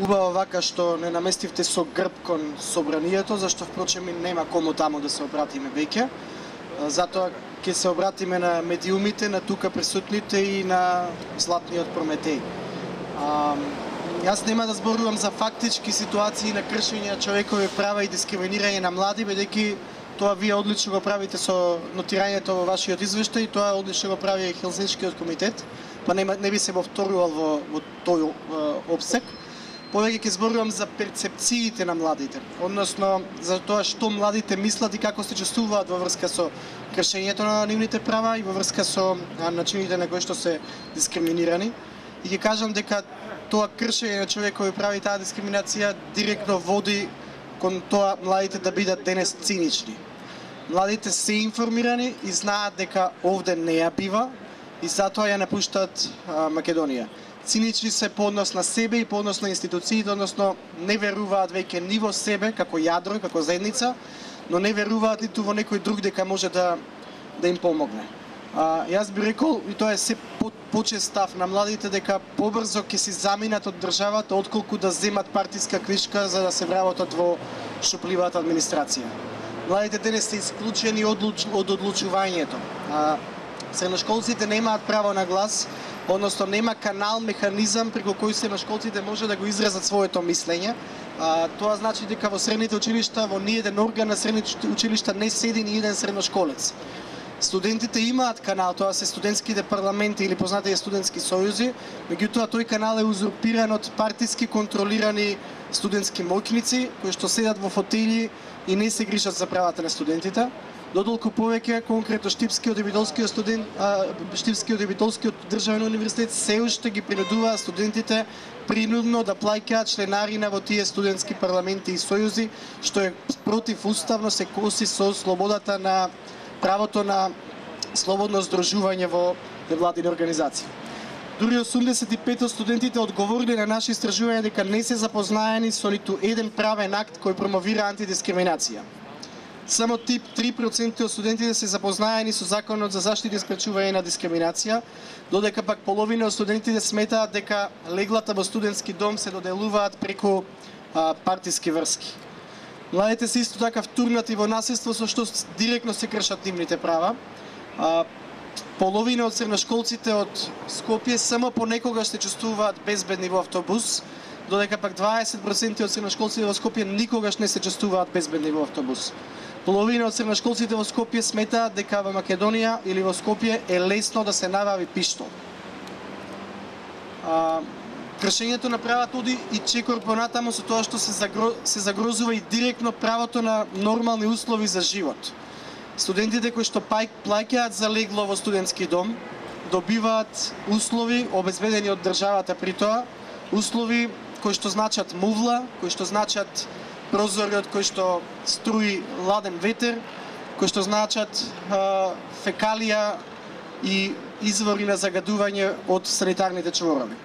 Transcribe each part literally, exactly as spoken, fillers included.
Убаво вака што не наместивте со грб кон собранието, зашто впрочем и нема кому таму да се обратиме веќе. Затоа ќе се обратиме на медиумите, на тука присутните и на Златниот Прометеј. А, јас нема да зборувам за фактички ситуации на кршење на човекови права и дискриминирање на млади, бидејќи тоа вие одлично го правите со нотирањето во вашиот извештај, тоа одлично го прави Хелзинскиот комитет, па не, не би се повторувал во, во тој обсек. Повеќе ќе зборувам за перцепциите на младите, односно за тоа што младите мислат и како се чувствуваат во врска со кршењето на нивните права и во врска со начините на кои што се дискриминирани. И ќе кажам дека тоа кршење на човекови права и таа дискриминација директно води кон тоа младите да бидат денес цинични. Младите се информирани и знаат дека овде не ја бива и затоа ја напуштаат а, Македонија. Цинични се по однос на себе и по однос на институциите, односно не веруваат веќе ни во себе како јадро, како заедница, но не веруваат ниту во некој друг дека може да да им помогне. А, јас би рекол, и тоа е се по, почест став на младите, дека побрзо ќе си заминат од државата отколку да земат партиска книжка за да се вработат во шупливата администрација. Младите денес се исклучени од, од одлучувањето. А, средношколците немаат право на глас, односно нема канал, механизам преку кој средношколците може да го изразат своето мислење. А, тоа значи дека во средните училишта, во ниеден орган на средните училишта не седи ни еден средношколец. Студентите имаат канал, тоа се студентските парламенти или познатите студентски сојузи, меѓутоа тој канал е узурпиран од партиски контролирани студентски моќници кои што седат во фотели и не се грижат за правата на студентите. Додолку повеќе, конкретно Штипскиот и Битолскиот студент, а, Штипскиот и Битолскиот државен универзитет се уште ги принудуваат студентите принудно да плаќаат членарина во тие студентски парламенти и сојузи, што е противуставно, се коси со слободата на правото на слободно здружување во невладини организации. Дури осумдесет и пет студентите одговорили на наши истражувања дека не се запознаени со ниту еден правен акт кој промовира антидискриминација. Само тип три проценти од студентите се запознаени со Законот за заштита и спречување на дискриминација, додека пак половина од студентите сметаат дека леглата во студентски дом се доделуваат преку а, партиски врски. Младите се исто така втурнати во насилство со што директно се кршат нивните права. А, половина од средношколците од Скопје само понекогаш се чувствуваат безбедни во автобус, додека пак дваесет проценти од средношколците во Скопје никогаш не се чувствуваат безбедни во автобус. Половина од средношколците во Скопје сметаат дека во Македонија или во Скопје е лесно да се набави пиштол. А, кршењето на правата оди и чекор понатаму со тоа што се, загро... се загрозува и директно правото на нормални услови за живот. Студентите кои што плаќаат за легло во студентски дом добиваат услови обезбедени од државата при тоа, услови кои што значат мувла, кои што значат прозори од кои што струи ладен ветер, кои што значат а, фекалија и извори на загадување од санитарните чворови.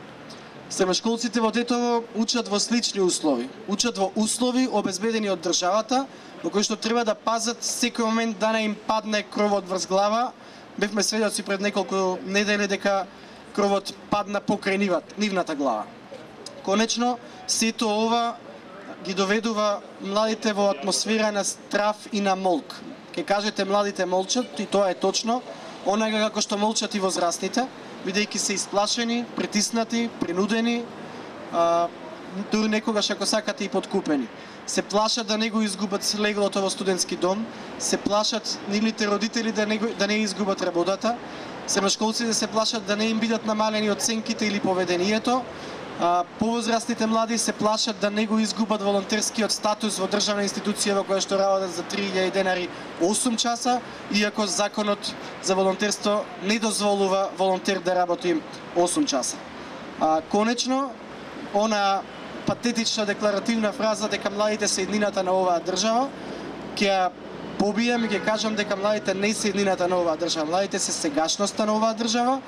Средношколците во Тетово учат во слични услови. Учат во услови обезбедени од државата, во кои што треба да пазат секој момент да не им падне кровот врз глава. Бевме сведоци пред неколку недели дека кровот падна покрај нивната глава. Конечно, сето ова ги доведува младите во атмосфера на страф и на молк. Ке кажете младите молчат, и тоа е точно, онага како што молчат и возрастните, бидејќи се исплашени, притиснати, принудени, а, дури некогаш ако сакате и подкупени. Се плашат да не го изгубат леглото во студентски дом, се плашат нивните родители да не, го, да не изгубат работата, средношколците се плашат да не им бидат намалени оценките или поведението, а, повозрастните млади се плашат да не го изгубат волонтерскиот статус во државна институција во која што работат за три илјади денари осум часа, иако законот за волонтерство не дозволува волонтер да работи осум часа. А, конечно, она патетична декларативна фраза дека младите се еднината на оваа држава, ќе ја побијам и ќе кажам дека младите не се еднината на оваа држава. Младите се сегашноста на оваа држава,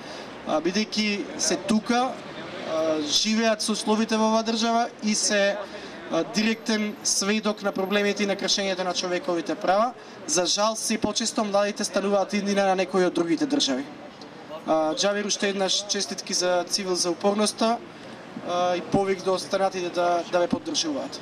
бидејќи се тука, живеат со условите во оваа држава и се директен сведок на проблемите и на кршењето на човековите права. За жал, се почесто младите стануваат еднина на некои од другите држави. Џавер, уште еднаш честитки за Цивил за упорноста. и повик до останатите да, да ме поддржуваат.